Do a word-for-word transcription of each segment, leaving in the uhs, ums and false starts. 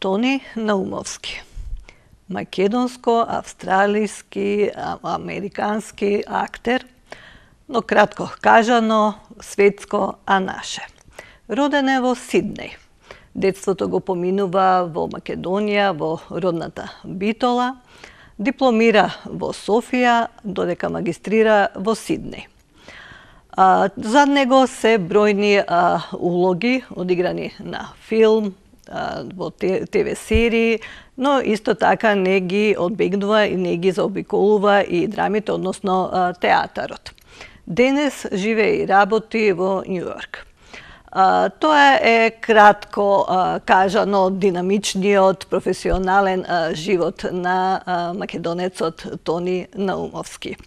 Тони Наумовски. Македонско-австралијски, американски актер, но кратко кажано, светско, а наше. Роден е во Сиднеј. Детството го поминува во Македонија, во родната Битола. Дипломира во Софија, додека магистрира во Сиднеј. А, за него се бројни а, улоги одиграни на филм, а, во те ве серии, но исто така не ги одбегнува и не ги заобиколува и драмите, односно а, театарот. Денес живее и работи во Њујорк. А, тоа е кратко а, кажано динамичниот професионален а, живот на а, македонецот Тони Наумовски.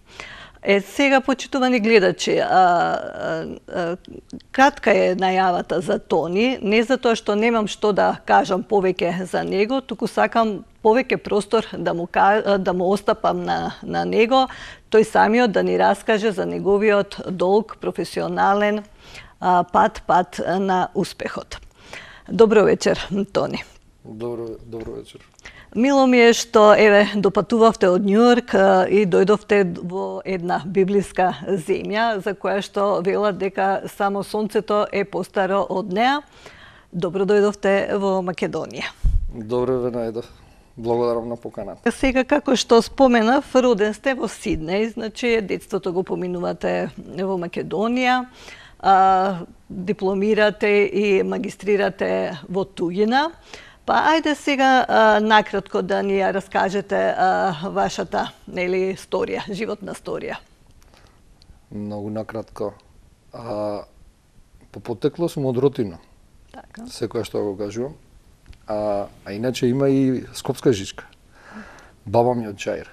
Е, сега, почитувани гледачи, а, а, а, кратка е најавата за Тони, не затоа што немам што да кажам повеќе за него, туку сакам повеќе простор да му, да му остапам на, на него, тој самиот да ни раскаже за неговиот долг, професионален а, пат, пат на успехот. Добро вечер, Тони. Добро, добро вечер. Мило ми е што еве допатувавте од Њујорк и дојдовте во една библиска земја за која што велат дека само сонцето е постаро од неа. Добро дојдовте во Македонија. Добро ве најдов. Благодарам на поканата. Сега, како што споменав, роден сте во Сиднеј, значи детството го поминувате во Македонија, а, дипломирате и магистрирате во туѓина. Па ајде сега а, накратко да ни ја раскажете а, вашата, нели, сторија, животна сторија. Многу накратко. А, по потекло сум од Ротино. Така. Секоја што го кажувам. А, а иначе има и скопска жичка. Баба ми од Чаир.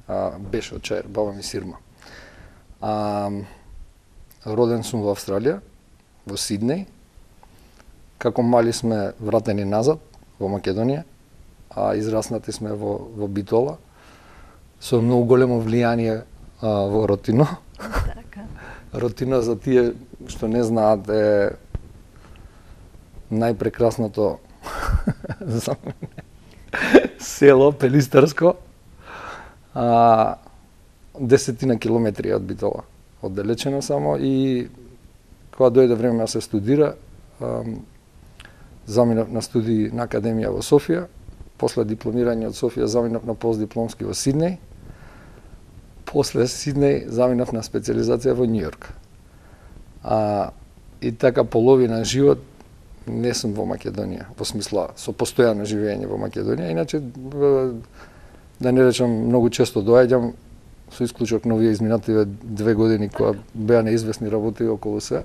А, беше од Чаир, баба ми Сирма. А, роден сум во Австралија, во Сиднеј. Како мали сме вратени назад во Македонија, а израснати сме во, во Битола, со многу големо влијание а, во Ротино. Така. Ротино, за тие што не знаат, е најпрекрасното за мене село Пелистарско, а, десетина километри од Битола, оддалечено само, и кога дојде време да се студира, а, заминав на студии на Академија во Софија, после дипломирање од Софија заминав на постдипломски во Сиднеј, после Сиднеј заминав на специализација во Њујорк. А, и така половина живот не сум во Македонија, во смисла со постојано живење во Македонија, иначе да не речам многу често доаѓам, со исклучок на овие изминативе две години кога беа неизвестни работи околу се.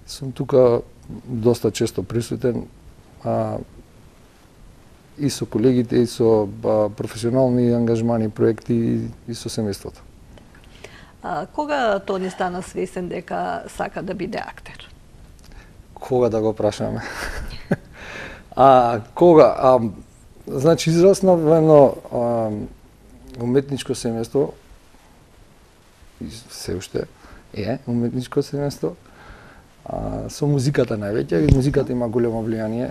Сум тука доста често присутен, а, и со колегите, и со а, професионални ангажмани, проекти, и, и со семејството. А, кога Тони стана свесен дека сака да биде актер? Кога да го прашаме? а, кога? А, значи, израснав во едно а, уметничко семејство, и се уште е уметничко семејство, А, со музиката највеќе, и музиката има големо влијание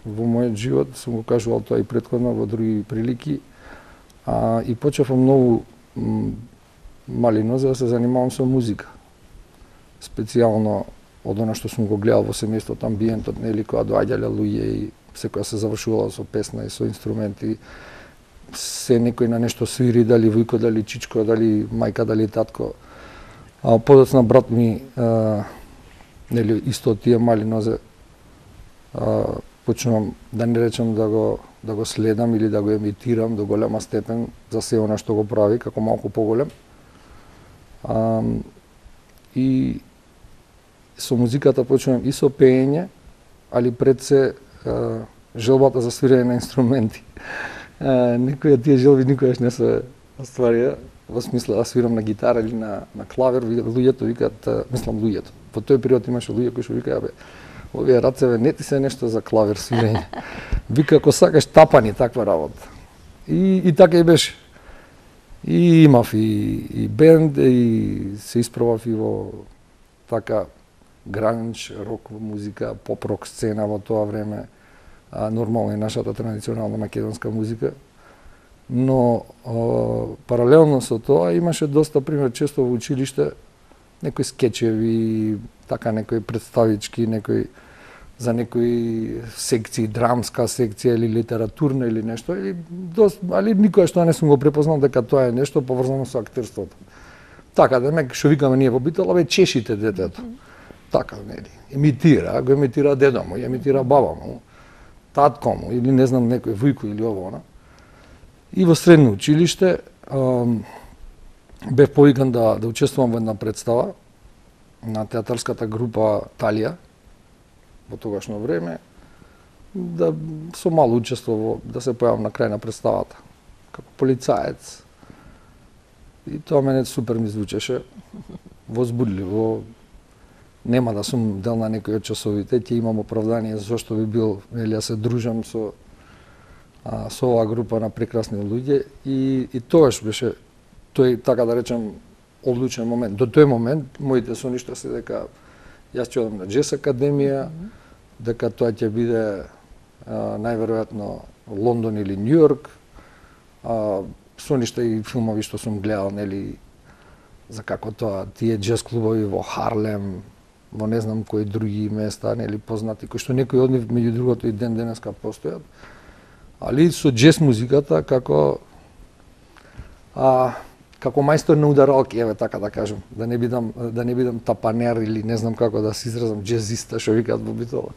во мојот живот, сум го кажувал тоа и претходно во други прилики, а, и почнав многу мали нозе да се занимавам со музика. Специјално од она што сум го гледал во семејството, амбиентот, нели, кога доаѓале луѓе и секоја се завршувала со песна и со инструменти, се некој на нешто свири, дали вујко, дали чичко, дали мајка, дали татко. А подоцна брат ми, а, нели, исто тие мали нозе, а, почнувам, да не речам да го, да го следам или да го емитирам до голема степен за се она што го прави, како малку поголем. А, и со музиката почнувам и со пеење, али пред се а, желбата за свирење на инструменти. А, некои од тие желби никогаш не се остварија, во смисла да свирам на гитара или на, на клавир. Луѓето викаат, мислам луѓето, во тој период имаше луѓе кои што викаа, бе, овие рацеве не ти се нешто за клавир свирење. Вика, ако сакаш тапани, таква работа. И, и така и беше. И имав и, и бенд, и се испробав и во така гранж, рок музика, поп-рок сцена во тоа време. а, нормално е нашата традиционална македонска музика. Но о, паралелно со тоа имаше доста, пример, често во училиште некои скечеви, така некои представички, некои за некои секции, драмска секција или литературна или нешто, или дост, али никој што не сум го препознал дека тоа е нешто поврзано со актерството. Така, да ме, што викаме ние во Битола, бе, чешите детето. Така, нели, имитира, го имитира дедо му, имитира баба му, татко му, или не знам, некој вујко или ово, она. И во средно училиште ам, бев повикан да, да учествувам во една представа на театарската група Талија, во тогашно време, да со мало учество во, да се појавам на крај на представата, како полицаец. И тоа мене супер ми звучеше, возбудливо. Нема да сум дел на некој од часовите, ќе имам оправдание зашто би бил, нели, ја се дружам со а, со оваа група на прекрасни луѓе и и тоаш беше тој, така да речем, одлучен момент. До тој момент моите соништа се дека јас ќе одам на Джез академија, mm -hmm. дека тоа ќе биде а, најверојатно Лондон или Њујорк. А, соништа и филмови што сум гледал, нели, за како тоа тие джез клубови во Харлем, во не знам кои други места, нели, познати, кои што некои од нив меѓу другото и ден денеска постојат. Али со джез музиката како а, како мајстор на ударалки, еве така да кажам, да не бидам да не бидам тапанер или не знам како да се изразам, джезиста што викаат во Битола.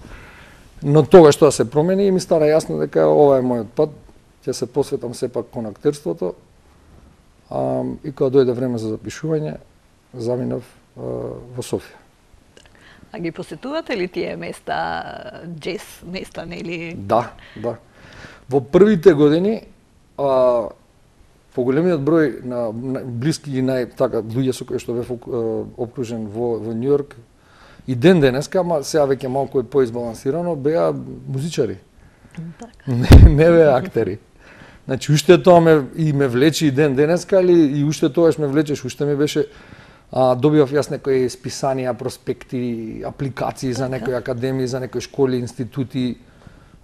Но тогаш тоа се промени и ми стана јасно дека ова е мојот пат, ќе се посветам сепак кон актерството. А, и кога дојде време за запишување, заминав а, во Софија. А ги посетувате ли тие места, джез места, нели? Да, да. Во првите години а, поголемиот број на, на блиски и нај така луѓе со кои што бев обкружен во во Њујорк и ден денеска, ама сега веќе малку е поизбалансирано, беа музичари. Така. Не, не беа актери. Значи уште тоа ме и ме влече и ден денеска, али и уште тоаш ме влечеш, уште ми беше а, добивав јас некои списанија, проспекти, апликации за некои академии, за некои школи, институти,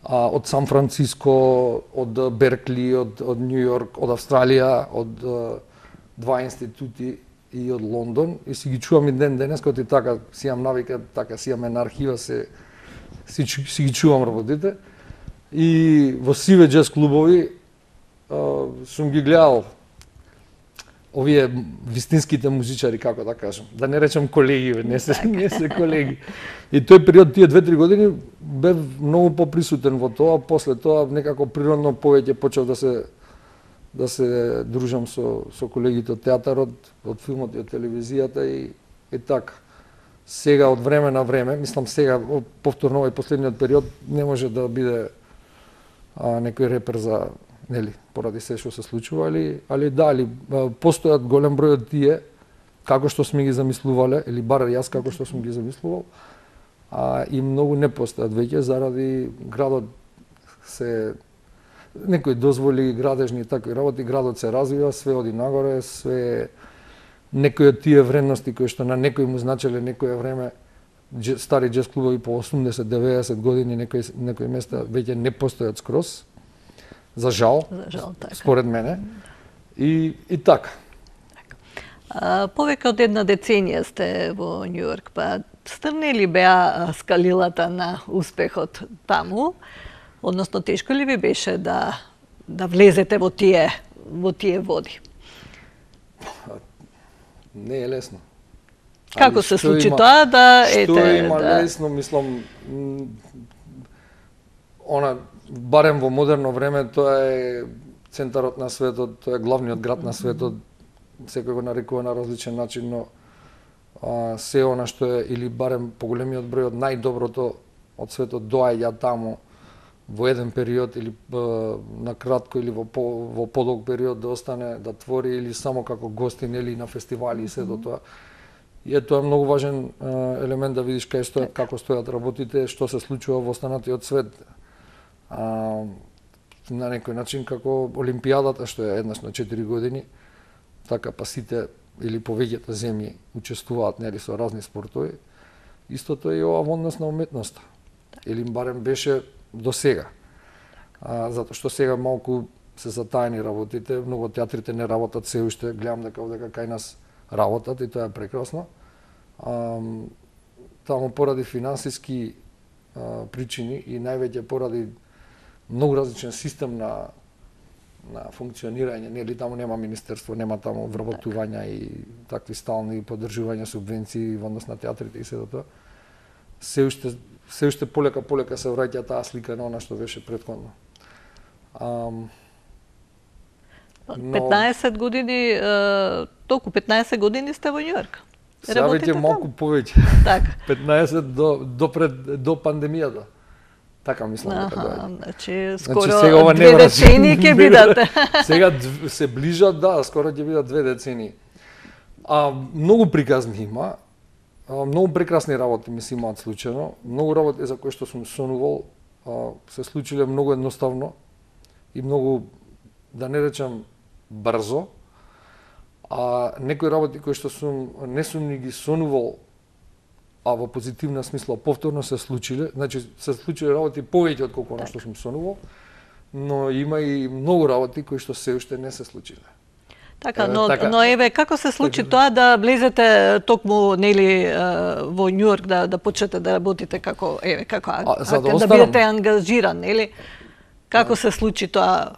а, од Сан Франциско, од Беркли, од од Њујорк, од Австралија, од а, два институти и од Лондон, и си ги чувам и ден денес, кога ти така си имам навика, така си имам на архива, се си, си ги чувам работите. И во сиве джез клубови а, сум ги гледал овие вистинските музичари, како да кажам, да не речам колеги, не се не се колеги. И тој период, тие две-три години, бев многу поприсутен во тоа, после тоа некако природно повеќе почев да се да се дружам со со колегите од театарот, од филмот и од телевизијата и и така. Сега од време на време, мислам сега повторно овој последниот период не може да биде а, некој репер за, нели, поради се што се случува, али али да, али постојат голем број од тие како што сме ги замислувале, или бар јас како што сум ги замислувал, а и многу не постојат веќе заради градот се некои дозволи градежни и такви работи, градот се развива, све оди нагоре, све некои од тие вредности кои што на некои му значеле некое време, стари джез клубови по осумдесет-деветдесет години, некои некои места веќе не постојат скроз. За жал, За жал, така. според мене. И и така. А, повеќе од една деценија сте во Њујорк, па стрни ли беа скалилата на успехот таму? Односно, тешко ли ви беше да да влезете во тие во тие води? Не е лесно. Како Али се што случи има- тоа да ете Што има да лесно, мислам, м, она барем во модерно време тоа е центарот на светот, тоа е главниот град на светот, секој го нарекува на различен начин, но а, се она што е, или барем поголемиот број од најдоброто од светот доаѓа таму во еден период или а, на кратко или во по, во подолг период да остане да твори или само како гостин или на фестивали и се до тоа. И е тоа многу важен а, елемент да видиш кај стојат, како стојат работите, што се случува во останатиот свет. А, на некој начин како Олимпијадата што е еднаш на четири години, така па сите или повеќето земји учествуваат, нели, со разни спортови. Истото е и ова во однос на уметноста. Или барем беше до сега. а, затоа што сега малку се затаени работите, многу театрите не работат се уште, гледам дека овдека кај нас работат и тоа е прекрасно. А, таму поради финансиски а, причини и највеќе поради многу различен систем на на функционирање, нели таму нема министерство, нема таму вработувања и такви стални поддржувања, субвенции во однос на театрите и се тоа. Се уште се уште полека полека се враќа таа слика на она што беше претходно. Ам, но... петнаесет години, толку петнаесет години сте во Њујорк. Сега веќе малку повеќе. Така. петнаесет до до пред до пандемијата. Така мислам дека доаѓа. Значи скоро значи, сега две децени ќе бидат. Сега се ближат, да, скоро ќе бидат две децени. А многу приказни има. А, многу прекрасни работи ми се имаат случајно. Многу работи за кои што сум сонувал а, се случиле многу едноставно и многу, да не речам, брзо. А некои работи кои што сум не сум ни ги сонувал, а во позитивна смисла повторно се случиле, значи се случиле работи повеќе од колку она што сум сонувал, но има и многу работи кои што се уште не се случиле. Така, но, така, но еве како се случи така, тоа да влезете токму нели во Њујорк да да почнете да работите како еве како а, а, да, да бидете ангажиран, нели? Како се случи тоа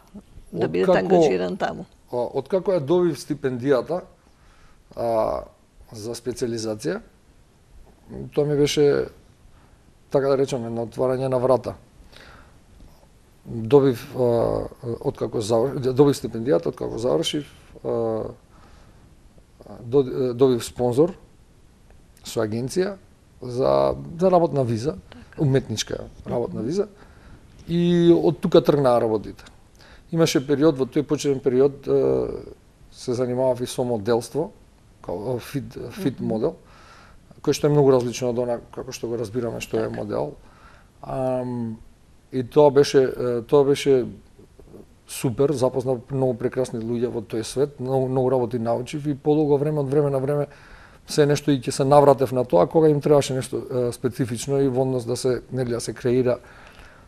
да бидете како, ангажиран таму? Откако ја добив стипендијата а, за специализација, тоа ми беше, така да речеме, на отварање на врата. Добив, а, откако завршив, добив стипендијата, откако завршив, а, добив спонзор со агенција за, за работна виза, уметничка работна виза, и од тука тргнаа работите. Имаше период, во тој почетен период, се занимавав и со моделство, као фит, фит модел, кој што е многу различно од она како што го разбираме што е модел. Um, и тоа беше тоа беше супер, запознав многу прекрасни луѓе во тој свет, многу, многу работи научив и подолго време од време на време се нешто и ќе се навратев на тоа кога им требаше нешто е, специфично и во однос да се нели да се креира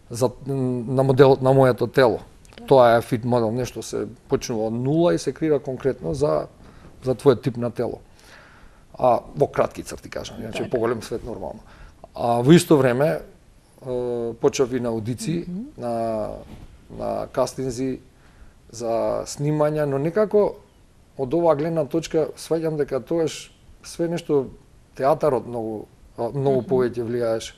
за на моделот на моето тело. Тоа е фит модел, нешто се почнува од нула и се креира конкретно за за твојот тип на тело. А во кратки црти кажам, иначе поголем свет нормално. А во исто време почнав и на аудиции, mm -hmm. на на кастинзи за снимања, но некако од оваа гледна точка сваќам дека тогаш све нешто театарот многу многу mm -hmm. повеќе влијаеше.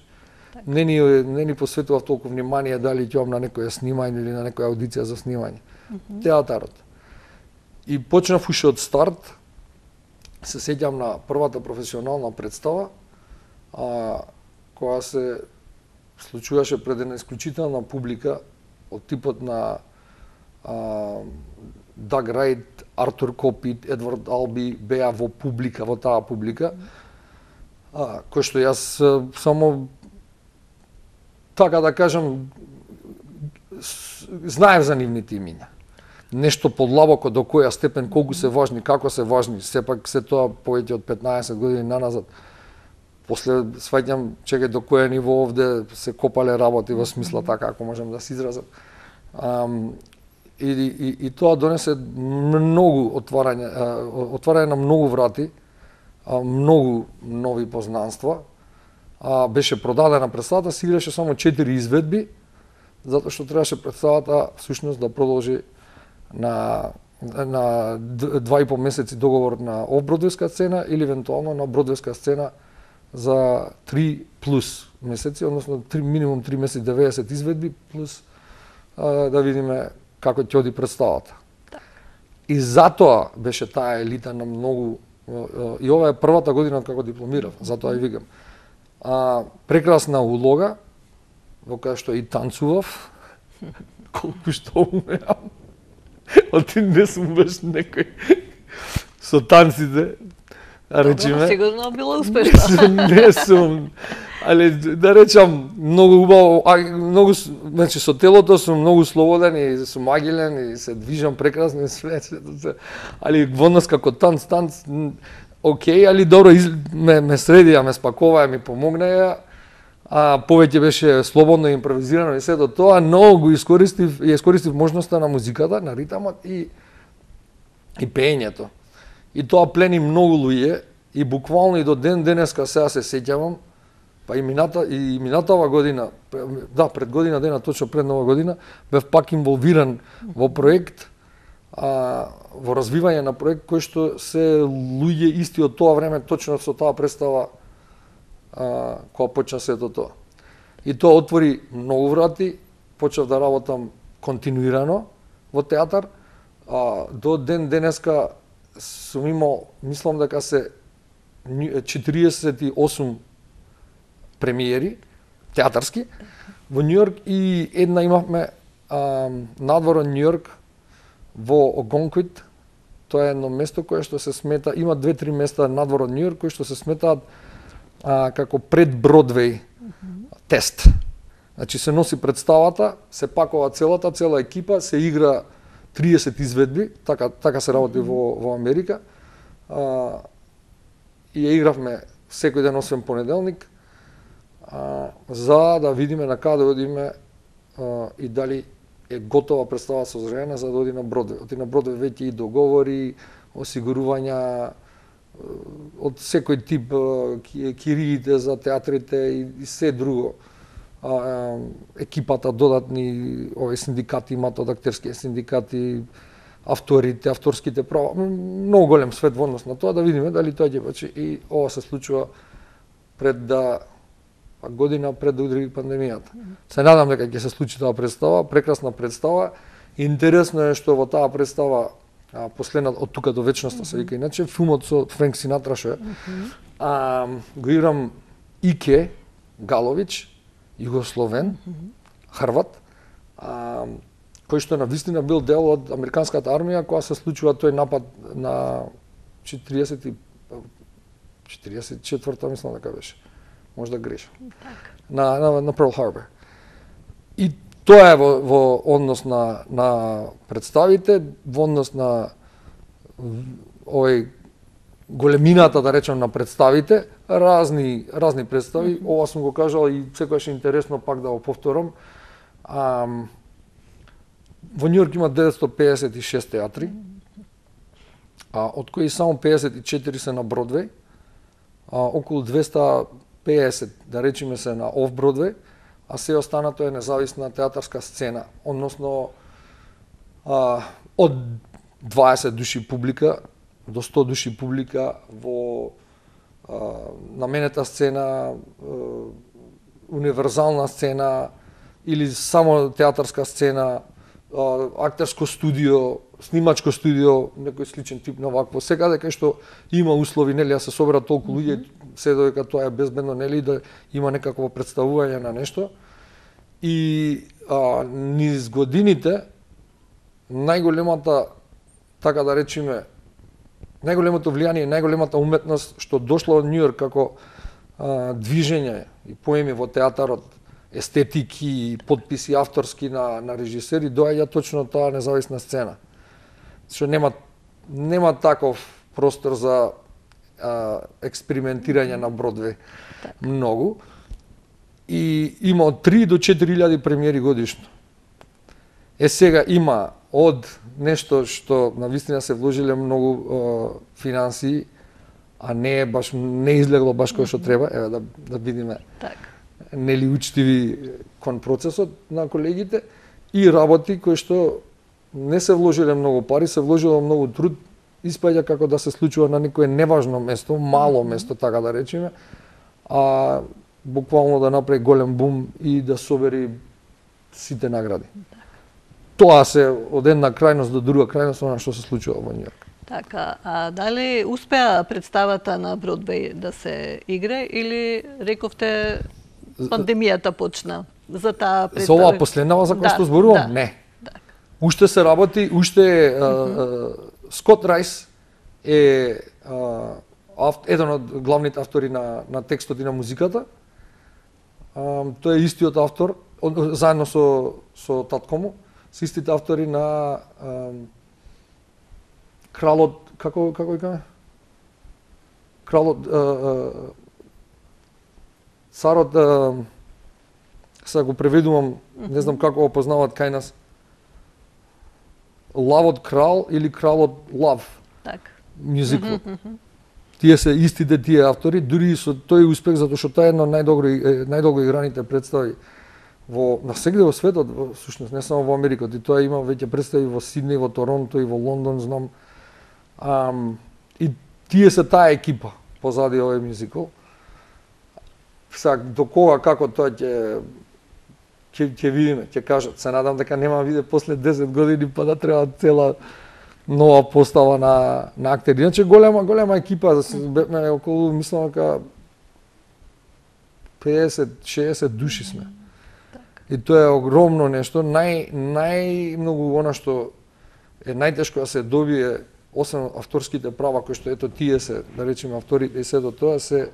Не ни не ни посветував толку внимание дали ќе на некоја снимање или на некоја аудиција за снимање. Mm -hmm. Театарот. И почнав уште од старт. Се сеќам на првата професионална представа, а, која се случуваше пред една исклучителна публика од типот на а, Даг Рајт, Артур Копит, Едвард Алби беа во публика, во таа публика, а, кој што јас само, така да кажам, знаев за нивните имиња. Нешто подлабоко до која степен, колку се важни, како се важни, сепак се тоа повеќе од петнаесет години наназад. После сваќам чекај до која ниво овде се копале работи во смисла така, ако можам да се изразам. Um, и, и, и тоа донесе многу отварање, отварање на многу врати, многу нови познанства. А, беше продадена представата, се играше само четири изведби, затоа што требаше представата всушност да продолжи на на два и пол месеци договор на офбродвејска сцена или евентуално на бродвејска сцена за три плюс месеци, односно три, минимум три месеци деветдесет изведби плюс а, да видиме како ќе оди представата. И затоа беше таа елита на многу, и ова е првата година како дипломирав, затоа и викам. А, прекрасна улога, во која што и танцував, колку што умеам. Оти не сум баш некој со танците, а речиме. Сигурно било успешно. Не сум, али да речам многу убаво, а, многу, значи со телото сум многу слободен и сум агилен и се движам прекрасно и све, али во нас како танц, танц, окей, али добро, из, ме, ме средија, ме спакуваа, ми помогнаја, а повеќе беше слободно импровизирано и сето тоа, но го искористив и искористив можноста на музиката, на ритамот и и пеењето. И тоа плени многу луѓе и буквално и до ден денеска сега се сеќавам, па и мината и минатава година, да, пред година дена, точно пред нова година, бев пак инволвиран во проект, а, во развивање на проект кој што се луѓе исти од тоа време, точно со таа представа а, кога почна сето тоа. И тоа отвори многу врати, почнав да работам континуирано во театар, а, до ден денеска сум имал, мислам дека се четириесет и осум премиери театарски во Њујорк и една имавме а, надвор од Њујорк во Огонквит. Тоа е едно место кое што се смета, има две-три места надвор од Њујорк кои што се сметаат а, како пред Бродвеј тест. Значи се носи представата, се пакува целата, цела екипа, се игра триесет изведби, така така се работи во во Америка. А, и ја игравме секој ден освен понеделник, а, за да видиме на каде одиме а, и дали е готова представа созрена за да оди на Бродвеј. Оди на Бродвеј веќе и договори, осигурувања од секој тип, кириите за театрите и, и се друго. А, а, екипата додатни, овие синдикати имаат од актерските синдикати, авторите, авторските права, многу голем свет во однос на тоа, да видиме дали тоа ќе почне. И ова се случува пред да година пред да удри пандемијата. Се надам дека ќе се случи таа представа, прекрасна представа. Интересно е што во таа представа, а, последна од тука до вечноста се вика иначе, филмот со Френк Синатра што е, а, го играм Ике Галович, југословен, Хрват, а, кој што навистина бил дел од американската армија кога се случува тој напад на четириесет и четврта, мислам дека беше. Можда грешам. На, на, на Перл Харбор. И тоа е во, во однос на, на представите, во однос на овој големината, да речем, на представите, разни, разни представи, ова сум го кажал и секогаш е интересно пак да го повторам. А, во Њујорк има деветстотини пеесет и шест театри, а, од кои само пеесет и четири се на Бродвеј, а, околу двеста пеесет, да речеме, се на оф Бродвеј, а се останато е независна театарска сцена, односно а, од дваесет души публика до сто души публика во а, наменета сцена, а, универзална сцена или само театарска сцена, а, актерско студио, снимачко студио, некој сличен тип на вакво. Секаде кај што има услови, нели, да се соберат толку луѓе, се додека тоа е безбедно, нели, да има некакво представување на нешто. И а, низ годините најголемата, така да речеме, најголемото влијание, најголемата уметност што дошла од Њујорк како а, движење и поеми во театарот, естетики и подписи авторски на на режисери, доаѓа точно таа независна сцена. Што нема нема таков простор за а, експериментирање на Бродвеј многу. И има од три до четири илјади премиери годишно. Е сега има од нешто што навистина се вложиле многу а, финансии, а не е баш не излегло баш кој што треба, еве да да видиме. Така. Нели учтиви кон процесот на колегите и работи кои што не се вложиле многу пари, се вложило многу труд, испаѓа како да се случува на некое неважно место, мало место, така да речеме, а буквално да направи голем бум и да собери сите награди. Тоа се од една крајност до друга крајност она што се случува во Њујорк. Така, а дали успеа представата на Бродвеј да се игре или рековте пандемијата почна за таа представа? За оваа последнава за која што зборувам? Да. Не. Уште се работи, уште а, а, Скот Рајс е а, ав, еден од главните автори на, на текстот и на музиката. А, тој е истиот автор, од, заедно со, со татко му, се истите автори на а, Кралот, како, како викаме? Кралот, а, а, царот, а, сега го преведувам, не знам како го познаваат кај нас. Лавот крал или кралот лав. Така. Мюзикл. Тие се истите тие автори, дури и со тој успех затоа што тоа е едно најдобро најдолго играните представи во насегде во светот, во сушност не само во Америка, и тоа има веќе представи во Сиднеј, во Торонто и во Лондон, знам. Ам, и тие се таа екипа позади овој мюзикл. Сега до кога како тоа ќе ќе ќе видиме, ќе кажат. Се надам дека нема виде после десет години па да треба цела нова постава на на актери. Иначе голема голема екипа, бевме околу мислам дека педесет шеесет души сме. И тоа е огромно нешто, нај најмногу она што е најтешко да се добие, освен авторските права кои што ето тие се, да речеме авторите и сето тоа се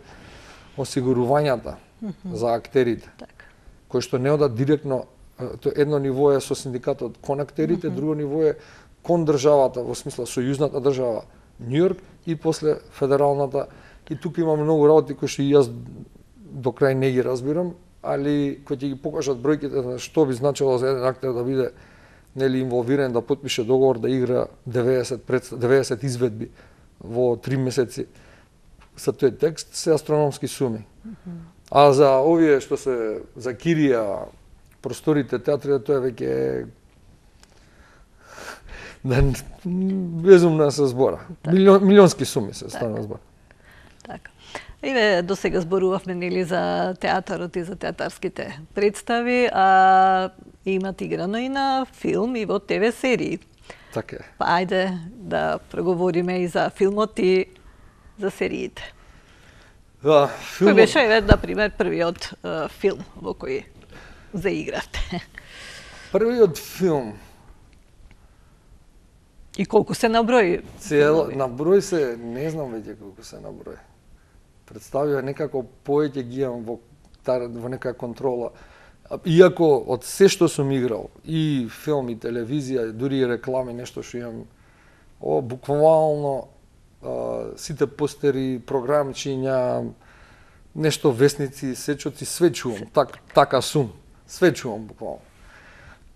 осигурувањата mm -hmm. за актерите. Так. Кои што не одат директно, едно ниво е со синдикатот кон актерите, mm -hmm. друго ниво е кон државата, во смисла сојузната држава Њујорк и после федералната. И тука има многу работи кои што и јас до крај не ги разбирам, али кои ќе ги покажат бројките на што би значило за еден актер да биде нели инволвиран, да потпише договор да игра деветдесет пред деветдесет изведби во три месеци за тој текст, се астрономски суми. Mm -hmm. А за овие што се за кирија, просторите, театрите, тоа веќе да безумна се збора. Так. Милион, милионски суми се стана збор. Така. Еве до сега зборувавме нели за театарот и за театарските представи, а имат играно и на филм и во ТВ серии. Така е. Па ајде да проговориме и за филмот и за сериите. Да, филмот... Кој беше, еве, на пример, првиот uh, филм во кој заигравте? Првиот филм. И колку се наброи? Цел, наброј се, не знам веќе колку се наброи. Представија некако повеќе ги имам во, во нека контрола. Иако од се што сум играл, и филм, и телевизија, дури и реклами, нешто што имам, о, буквално а, сите постери, програмчиња, нешто весници, сечоци, све чувам, так, така сум, све чувам буквално.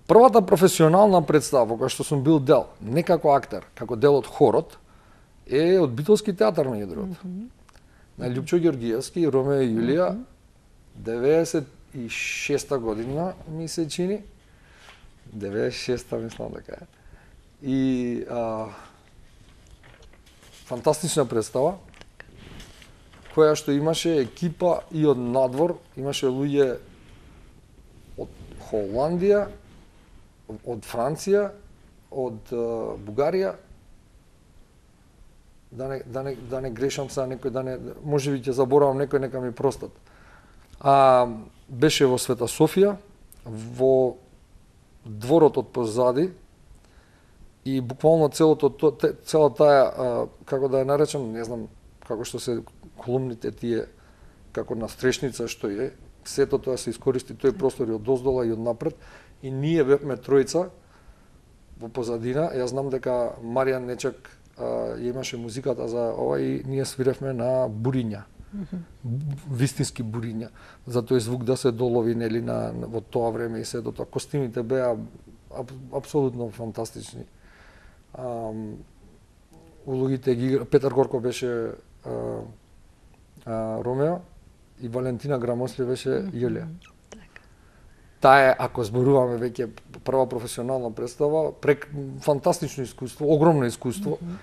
Првата професионална представа во која што сум бил дел, не како актер, како дел од хорот, е од Битолски театар, меѓу другото. Mm -hmm. На Љупчо Ѓоргиевски, Ромео и Јулија, mm -hmm. деветдесет и шеста година ми се чини, деветдесет и шеста мислам дека е. И а, фантастична представа, која што имаше екипа и од надвор, имаше луѓе од Холандија, од Франција, од uh, Бугарија, да не, да не, да не грешам сега некој, да не, можеби ќе заборавам некој, нека ми простат. А, беше во Света Софија, во дворот од позади, и буквално целото, цела таа, а, како да ја наречам, не знам како што се колумните тие, како на стрешница што е, сето тоа се искористи тој простор и од доздола и од напред, и ние бевме тројца во позадина. Јас знам дека Маријан Нечак а, ја имаше музиката за ова и ние свиревме на буриња. Mm -hmm. Вистински буриња. За тој звук да се долови нели на во тоа време и се до тоа. Костимите беа аб, апсолутно фантастични. Ам, улогите ги игра Петар Горко беше а, а, Ромео и Валентина Грамосли беше Јулија. Mm -hmm. Таа е, ако зборуваме веќе прва професионална представа, прек фантастично искуство, огромно искуство. Mm -hmm.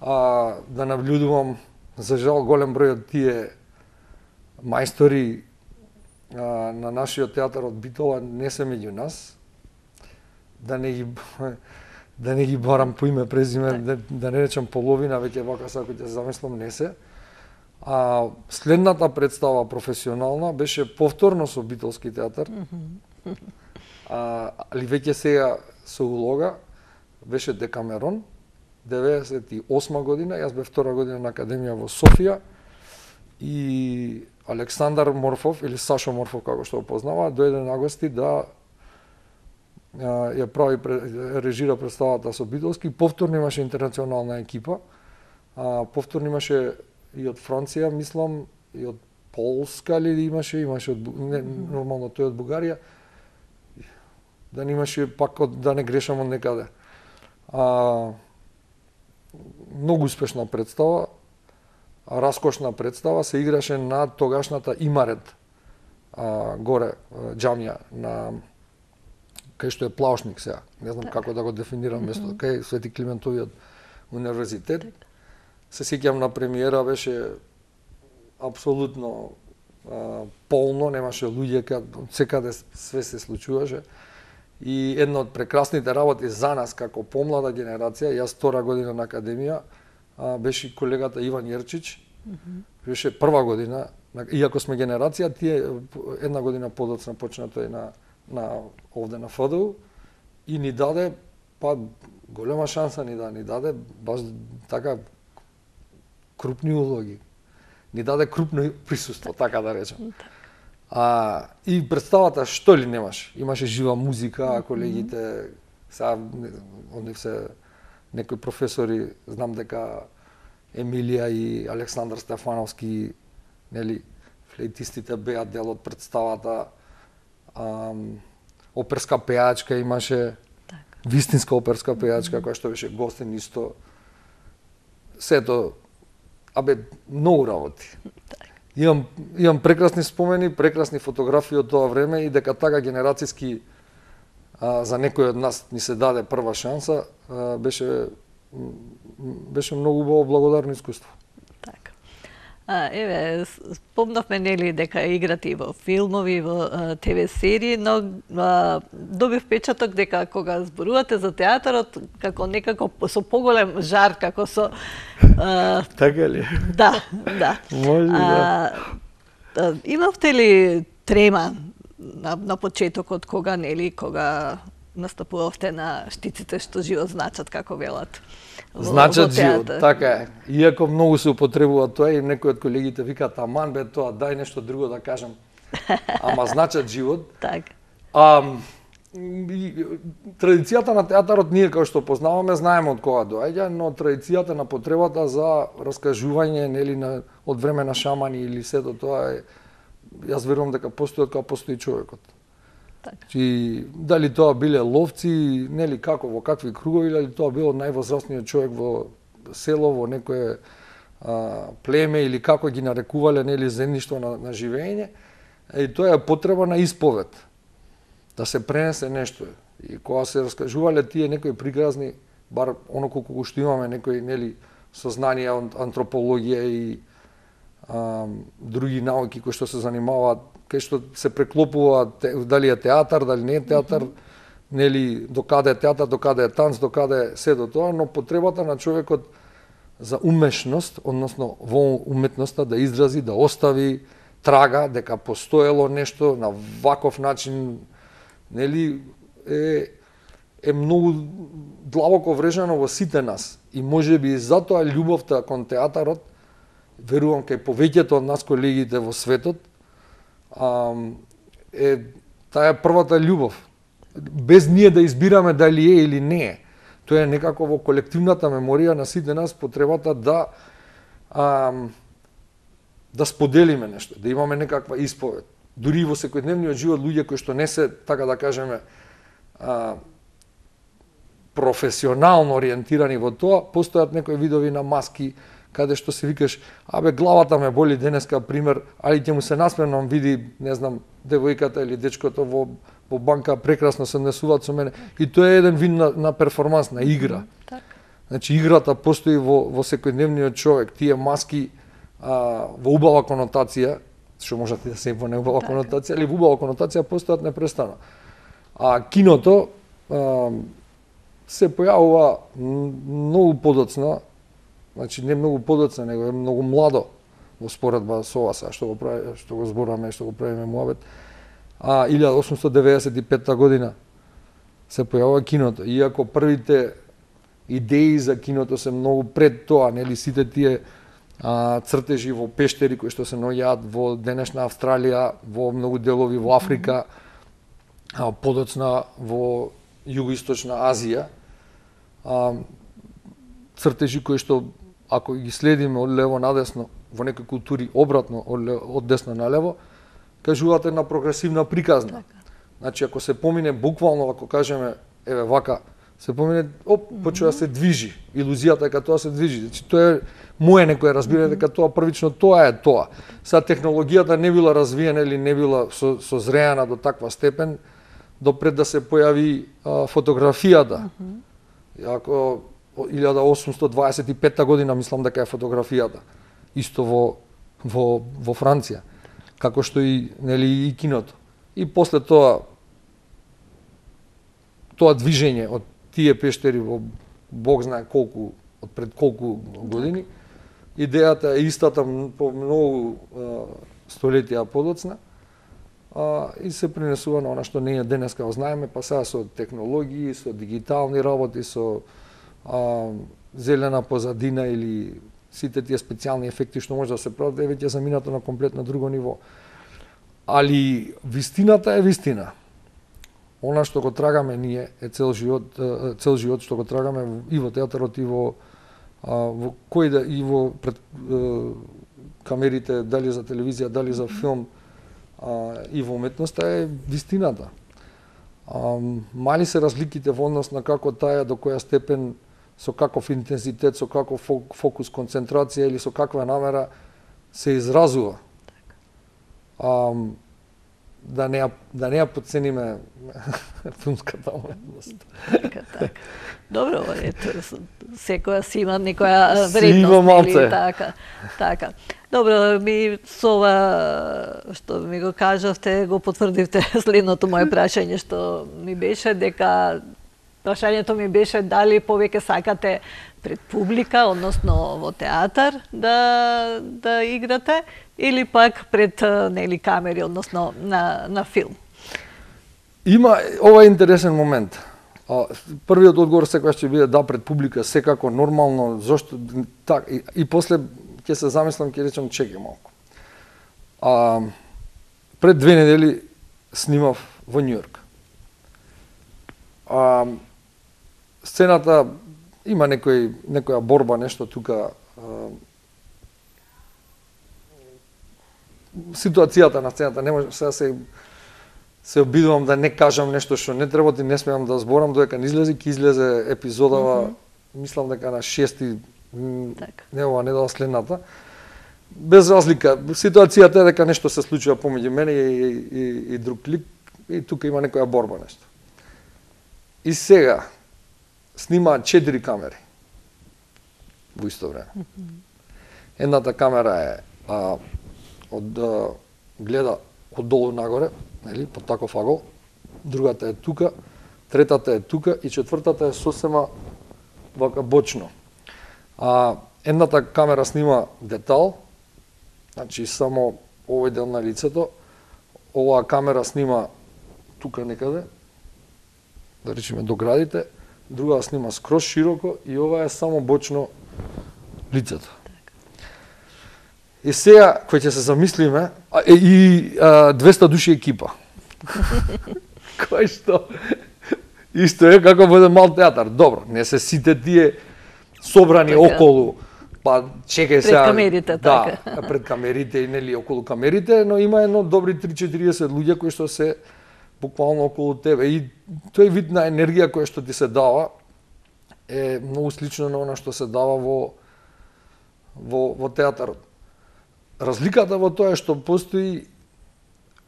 А, да наблюдувам, за жал, голем број од тие мајстори а, на нашиот театар од Битола не се меѓу нас. Да не ги да не ги барам по име презиме, да, да не речам половина, веќе вака сако ќе замислам не се. А следната представа професионална беше повторно со Битолски театар. Mm -hmm. а, али веќе сега со улога беше Декамерон, деветдесет и осма година, јас бев втора година на академија во Софија и Александар Морфов или Сашо Морфов како што го познава, дојде на гости да а, ја прави режира представата со Битолски. Повторно имаше интернационална екипа. А, повторно имаше и од Франција, мислам, и од Полска ли имаше, имаше од не, нормално тој од Бугарија. Да не имаше пак од, да не грешам од некаде. А, многу успешна представа, раскошна представа, се играше на тогашната Имарет, а, горе, џамија, на кај што е Плаушник сега. Не знам так. Како да го дефинирам место, mm -hmm. кај Свети Климентовиот универзитет. Так. Се сеќам на премиера, беше апсолутно а, полно, немаше луѓе, кад секаде све се случуваше. И една од прекрасните работи за нас како помлада генерација, јас втора година на академија, а, беше колегата Иван Јерчич. Mm -hmm. Беше прва година, иако сме генерација, тие една година подоцна почна тој на на овде на Ф Д У и ни даде па голема шанса ни да ни даде баш така крупни улоги. Ни даде крупно присуство, така да речем. А, и представата што ли немаш? Имаше жива музика, колегите, сега, онde се некои професори, знам дека Емилија и Александар Стефановски, нели, флейтистите беа дел од представата. А, оперска пејачка имаше, так. Вистинска оперска пејачка, mm -hmm. која што беше гостин исто. Сето, абе, многу работи. Так. Имам, имам прекрасни спомени, прекрасни фотографии од тоа време и дека така генерацијски а, за некој од нас ни се даде прва шанса, а, беше, беше многу убаво благодарно искуство. Така. А, еве, спомнавме нели дека играте и во филмови, во Т В серии, но а, добив впечаток дека кога зборувате за театарот, како некако со поголем жар, како со а, така ли? Да, да. Може да. А, имавте ли трема на, на почетокот кога нели кога настапувавте на штиците што живот значат, како велат? Значат живот, така е. Иако многу се употребува тоа и некои од колегите викаат аман бе тоа, дај нешто друго да кажам. Ама значат живот. Така. А, традицијата на театарот ние како што познаваме знаеме од кога доаѓа, но традицијата на потребата за раскажување нели на од време на шамани или сето тоа е, јас верувам дека постои од кога постои човекот. Така. И дали тоа биле ловци, нели како во какви кругови, дали тоа било највозрастниот човек во село, во некое а, племе или како ги нарекувале нели земјишто на, на живење, и тоа е потреба на исповед. Да се пренесе нешто. И кога се раскажувале тие некои пригразни, бар оно колку што имаме некои нели сознанија од антропологија и а, други науки кои што се занимаваат, кај што се преклопува дали е театар, дали не е театар, mm -hmm. нели докаде е театар, докаде е танц, докаде е сето тоа, но потребата на човекот за умешност, односно во уметноста да изрази, да остави трага дека постоело нешто на ваков начин, нели е е многу длабоко врежано во сите нас и можеби затоа љубовта кон театарот, верувам кај повеќето од нас колегите во светот, а, е таа е првата љубов. Без ние да избираме дали е или не е. Тоа е некако во колективната меморија на сите нас потребата да а, да споделиме нешто, да имаме некаква исповед. Дури во секојдневниот живот луѓе кои што не се, така да кажеме, а, професионално ориентирани во тоа, постојат некои видови на маски, каде што се викаш, абе главата ме боли денеска, пример, али ќе му се насмевнам, види, не знам, девојката или дечкото во, во банка прекрасно се однесуваат со мене. И тоа е еден вид на, на перформанс, на игра. Так. Значи, играта постои во, во секојдневниот човек. Тие маски а, во убава конотација, што можат да се во неубава так. конотација, или во убава конотација постојат непрестано. А киното а, се појавува многу подоцна, значи не многу подоцна, него е многу младо во споредба со ова што го прави, што го зборуваме, што го правиме муабет. А илјадесет осумстотини деведесет и петта година се појавува киното. Иако првите идеи за киното се многу пред тоа, нели сите тие а, цртежи во пештери кои што се наоѓаат во денешна Австралија, во многу делови во Африка, а, подоцна во југоисточна Азија. А, цртежи кои што ако ги следиме од лево надесно, во некои култури обратно од, од десно на лево, кажуваат една прогресивна приказна. Така. Значи ако се помине буквално, ако кажеме еве вака, се помине, оп, почува да се движи. Илузијата е дека тоа се движи. Значи тоа е мое некое разбирање дека тоа првично тоа е тоа. Сега технологијата не била развиена или не била со, созреана до таква степен допред да се појави а, фотографијата. Mm -hmm. Ако илјада осумстотини дваесет и пета година мислам дека е фотографијата. Исто во во во Франција. Како што и нели и киното. И после тоа тоа движење од тие пештери во Бог знае колку, од пред колку години, идејата е истата по многу а, столетија подоцна, а, и се пренесува на она што ние денеска го знаеме, па сега со технологии, со дигитални работи, со а, зелена позадина или сите тие специјални ефекти што може да се прават, е веќе заминато на комплетно друго ниво. Али вистината е вистина. Она што го трагаме ние е цел живот, цел живот што го трагаме и во театарот и во во кој да и во пред камерите, дали за телевизија, дали за филм, и во уметноста е вистината. Мали се разликите во однос на како таа до која степен, со каков интензитет, со каков фокус, концентрација или со каква намера се изразува. Да не да не ја подцениме филмската уметност. Така, така. Добро, ето, секоја си има некоја вредност, или така. Така. Добро, ми со ова што ми го кажавте, го потврдивте следното мое прашање што ми беше дека прашањето ми беше дали повеќе сакате пред публика, односно во театар да да играте или пак пред нели камери, односно на на филм. Има ова интересен момент. Првиот одговор секогаш ќе биде да пред публика, секако нормално, зошто так и, и после ќе се замислам, ќе речам чекај малку. А пред две недели снимав во Њујорк. А сцената има некој некоја борба, нешто тука. Ситуацијата на сцената не може, сега се се обидувам да не кажам нешто што не треба и не смеам да зборам, додека не излезе, ќе излезе епизодава, mm -hmm. мислам дека на шести, так. Не ова недела следната. Без разлика, ситуацијата е дека нешто се случува помеѓу мене и, и, и друг лик, и тука има некоја борба нешто. И сега снимаат четири камери во исто време. Mm -hmm. Едната камера е а, од а, гледа од долу нагоре, нели, по таков агол, другата е тука, третата е тука и четвртата е сосема вака бочно. А едната камера снима детал, значи само овој дел на лицето, оваа камера снима тука некаде, да речеме до градите, друга снима скроз широко и ова е само бочно лицето. И сега, кој ќе се замислиме, а, и а, двеста души екипа. Кој што? Исто е како во еден мал театар. Добро, не се сите тие собрани така. Околу, па чекај сега... Пред камерите, така. Да, пред камерите и нели околу камерите, но има едно добри три-четириесет луѓе кои што се буквално околу тебе. И тој вид на енергија која што ти се дава е многу слично на она што се дава во во, во театарот. Разликата во тоа е што постои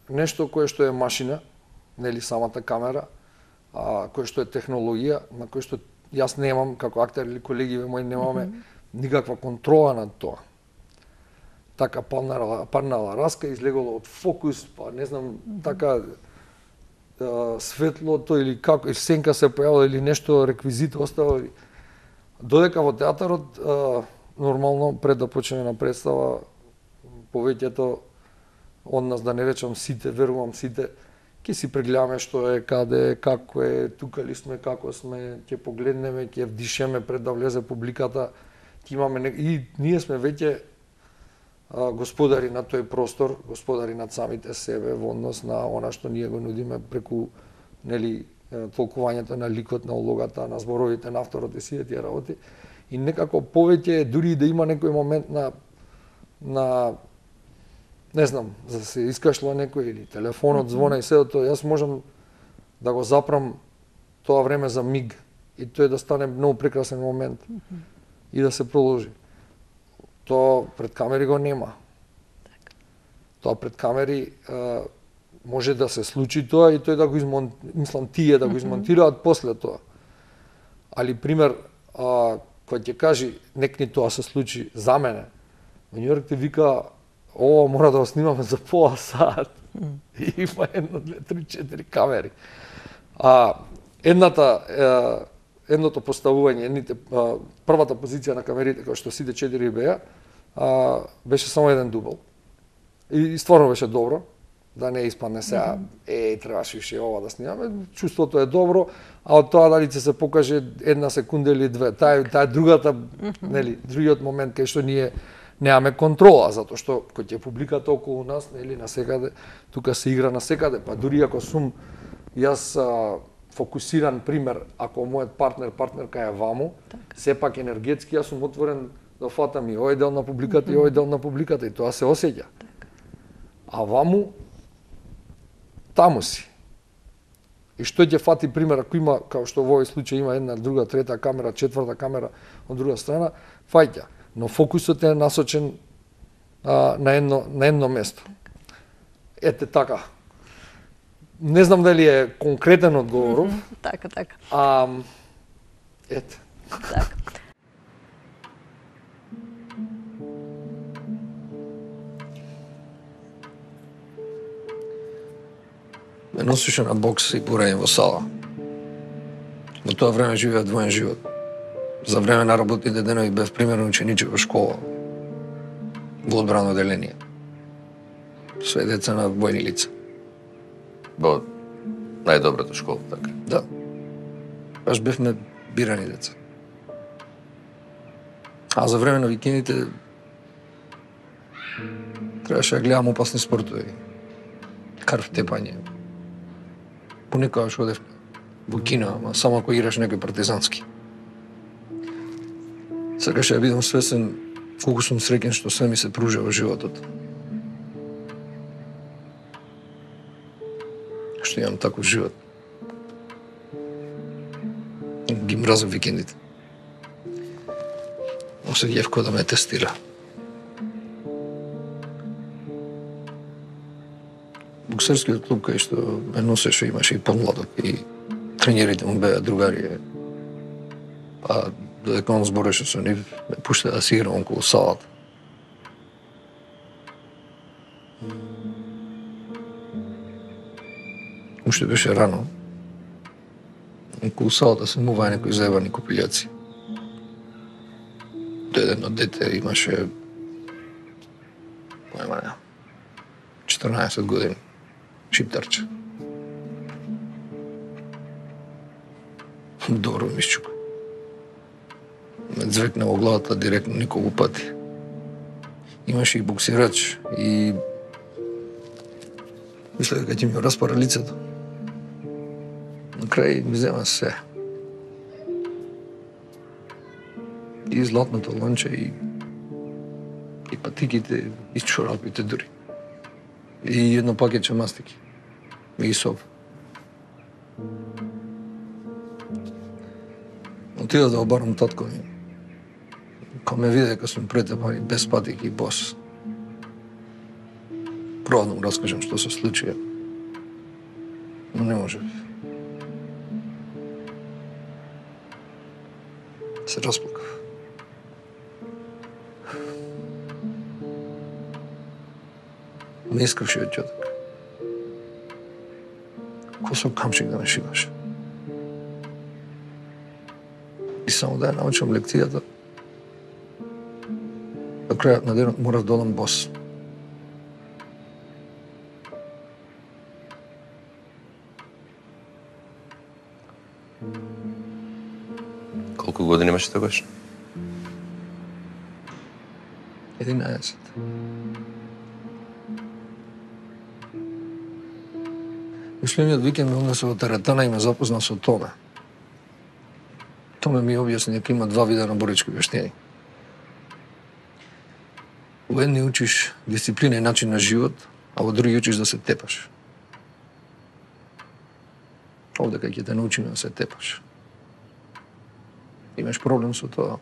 нешто кое што е машина, нели самата камера, а кое што е технологија, на кој што јас немам како актер или колегиве мои немаме mm -hmm. никаква контрола над тоа. Така паднала, паднала раска, излеголо од фокус, па не знам, mm -hmm. така а, светлото или како, и сенка се појавила или нешто реквизит остава. Додека во театарот, а, нормално пред да почне на представа, повеќето од нас, да не речам сите, верувам сите, ќе си прегледаме што е, каде е, како е, тука ли сме, како сме, ќе погледнеме, ќе вдишеме пред да влезе публиката, ќе имаме и ние сме веќе а, господари на тој простор, господари над самите себе во однос на она што ние го нудиме преку нели толкувањето на ликот, на улогата, на зборовите, на авторот и сите тие работи. И некако повеќе дури да има некој момент на на не знам, за да се искашло некој или телефонот звона и седо тоа, јас можам да го запрам тоа време за миг и тој да стане многу прекрасен момент и да се продолжи. Тоа пред камери го нема. Тоа пред камери а, може да се случи тоа и тој да го измон... мислам тие да го измонтираат после тоа. Али пример, а, кој ќе кажи некни тоа се случи за мене, во Њу Јорк ти вика ова мора да го снимаме за пола сат. И има едно, две, три, четири камери. А едната е, едното поставување, едните а, првата позиција на камерите кој што сите четири беа, а, беше само еден дубл. И стварно беше добро, да не испадне сега, е, требаше више ова да снимаме, чувството е добро, а од тоа дали ќе се покаже една секунда или две, таа таа другата, нели, другиот момент кај што ние немаме контрола, затоа што кој ќе публиката околу нас, нели, на секаде, тука се игра на секаде, па дури ако сум јас а, фокусиран, пример, ако мојот партнер, партнерка е ваму, так. Сепак енергетски јас сум отворен да фатам и овој дел на публиката mm -hmm. и овој дел на публиката и тоа се осеќа. Так. А ваму, таму си. И што ќе фати, пример, ако има, као што во овој случај има една, друга, трета камера, четврта камера од друга страна, фаќа. Но фокусот е насочен а, на едно на едно место. Ете така. Не знам дали е конкретен одговоров. Mm -hmm. Така, така. А ете. Така. Ме носише на бокс и борење во сала. Во тоа време живеа двоен живот. За време на работните денови бев примерно учениче во школа, во одбрано оделение. Све деца на војни лица. Во најдобрата школа, така? Да. Баш бевме бирани деца. А за време на викендите требаше да гледам опасни спортови. Крв тепање. Понекогаш одев во кино, ама само ако играш некој партизански. Сакаше да бидам свесен колку сум среќен што све ми се пружа во животот. Што имам таков живот. Ги мразам викендите. Осеќав кој да ме тестира. Боксерскиот клуб кај што ме носеше имаше и помладок и тренерите му беа другари. А додека он збореше со нив, ме пушта да си играм околу салата. Уште беше рано. Околу салата се муваа некои заебани купилјаци. Едно дете имаше појма четрнаесет години, шиптарче. Добро ми счука. Ме звекна во главата директно николку пати. Имаше и боксирач и мисля дека ќе ми распара лицето. На крај ми зема се. И златното ланче, и, и патиките, и чорапите дури. И едно пакетче мастики. И соп. Отида да обарам татко ми. Кога ме виде дека сум претепан и без патики и бос. Пробав да му раскажам што се случи. Но не можев. Се расплакав. Ме искавше од ќотак. Ко со камчик да ме шиваше. И само да ја научам лекцијата, до крајот на денот морав да одам бос. Колку години имаше тогаш? единаесет. Мислениот викенд ме однесе во теретана и ме запозна со Томе. Томе ми објасни дека има два вида на борички вештини. Во едни учиш дисциплина и начин на живот, а во други учиш да се тепаш. Овде кај ќе те научиме да се тепаш. Имаш проблем со тоа?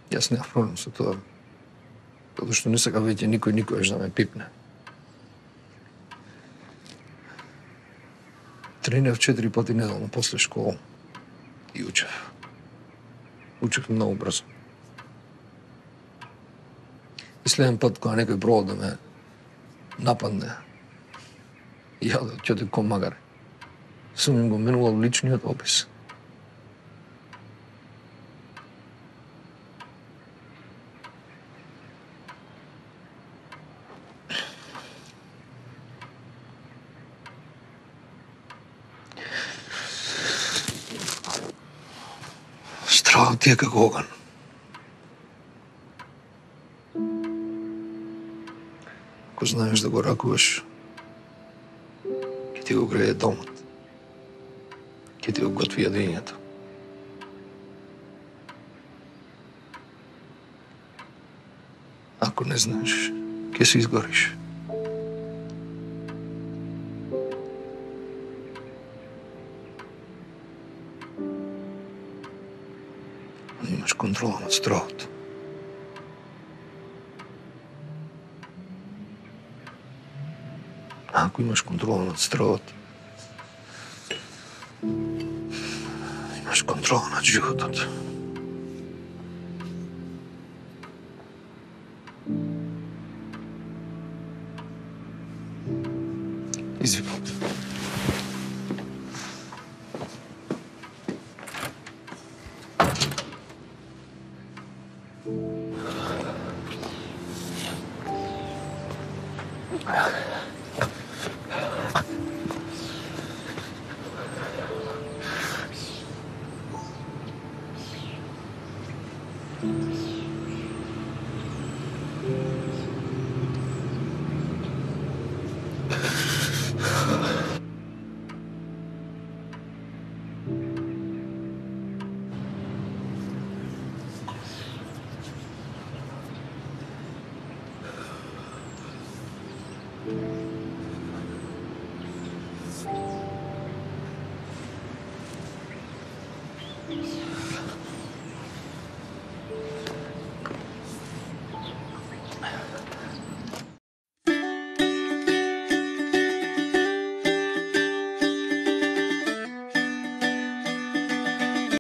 Јас немам проблем со тоа. Затоа што не сака веќе никој никогаш да ме пипне. Тренирав четири пати неделно после школа и учев. Учев многу брзо. И следен пат кога некој пробал да ме нападне, ја да ќе ко магаре, сум им го менувал личниот опис. Стравот ти е како оган. Ако знаеш да го ракуваш, ќе ти го грее домот, ќе ти го готви јадењето. Ако не знаеш, ќе се изгориш. Но имаш контрола над стравото. Ако имаш контрола над стравот, имаш контрола над животот. Извини.